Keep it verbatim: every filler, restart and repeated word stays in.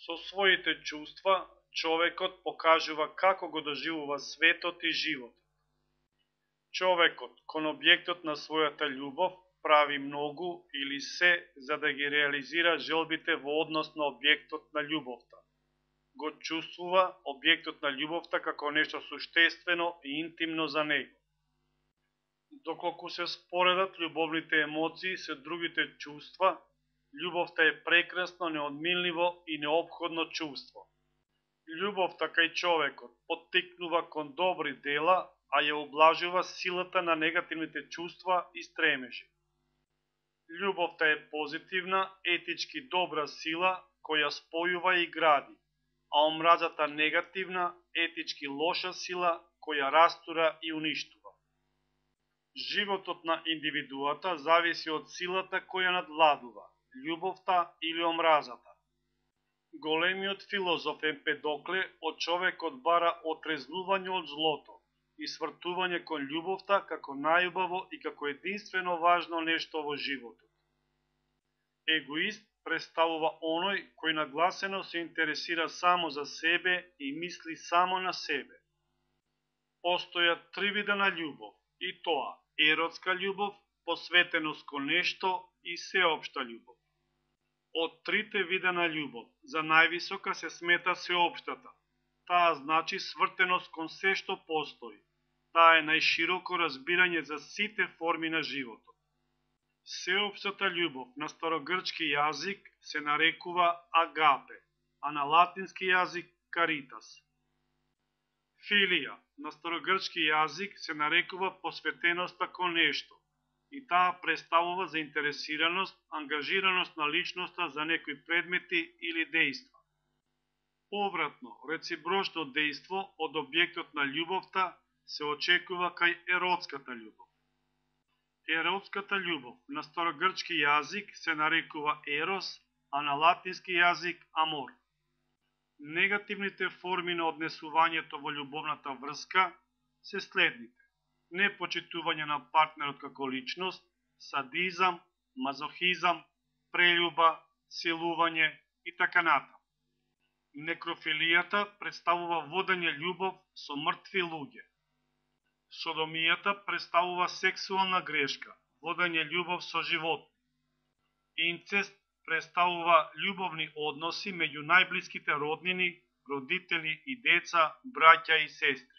Со своите чувства, човекот покажува како го доживува светот и животот. Човекот, кон објектот на својата љубов, прави многу или се за да ги реализира желбите во однос на објектот на љубовта. Го чувствува објектот на љубовта како нешто суштествено и интимно за него. Доколку се споредат љубовните емоции со другите чувства, љубовта е прекрасно, неодминливо и неопходно чувство. Љубовта кај човекот поттикнува кон добри дела, а ја облажува силата на негативните чувства и стремежи. Љубовта е позитивна, етички добра сила која спојува и гради, а омразата негативна, етички лоша сила која растура и уништува. Животот на индивидуата зависи од силата која надвладува, љубовта или омразата. Големиот филозоф Емпедокле од човекот бара отрезнување од злото и свртување кон љубовта како најубаво и како единствено важно нешто во животот. Егоист представува оној кој нагласено се интересира само за себе и мисли само на себе. Постојат три вида на љубов, и тоа еротска љубов, посветеност кон нешто и сеопшта љубов. Од трите вида на љубов, за највисока се смета сеопштата. Таа значи свртеност кон се што постои. Таа е најшироко разбирање за сите форми на животот. Сеопштата љубов на старогрчки јазик се нарекува агапе, а на латински јазик каритас. Филија на старогрчки јазик се нарекува посветеноста кон нешто, и таа представува заинтересираност, ангажираност на личноста за некои предмети или дејства. Повратно, реципрочно дејство од објектот на љубовта се очекува кај еротската љубов. Еротската љубов на старогрчки јазик се нарекува ерос, а на латински јазик амор. Негативните форми на однесувањето во љубовната врска се следните: непочитување на партнерот како личност, садизам, мазохизам, прељуба, силување и така натаму. Некрофилијата представува водење љубов со мртви луѓе. Содомијата представува сексуална грешка, водење љубов со животни. Инцест представува љубовни односи меѓу најблиските роднини, родители и деца, браќа и сестри.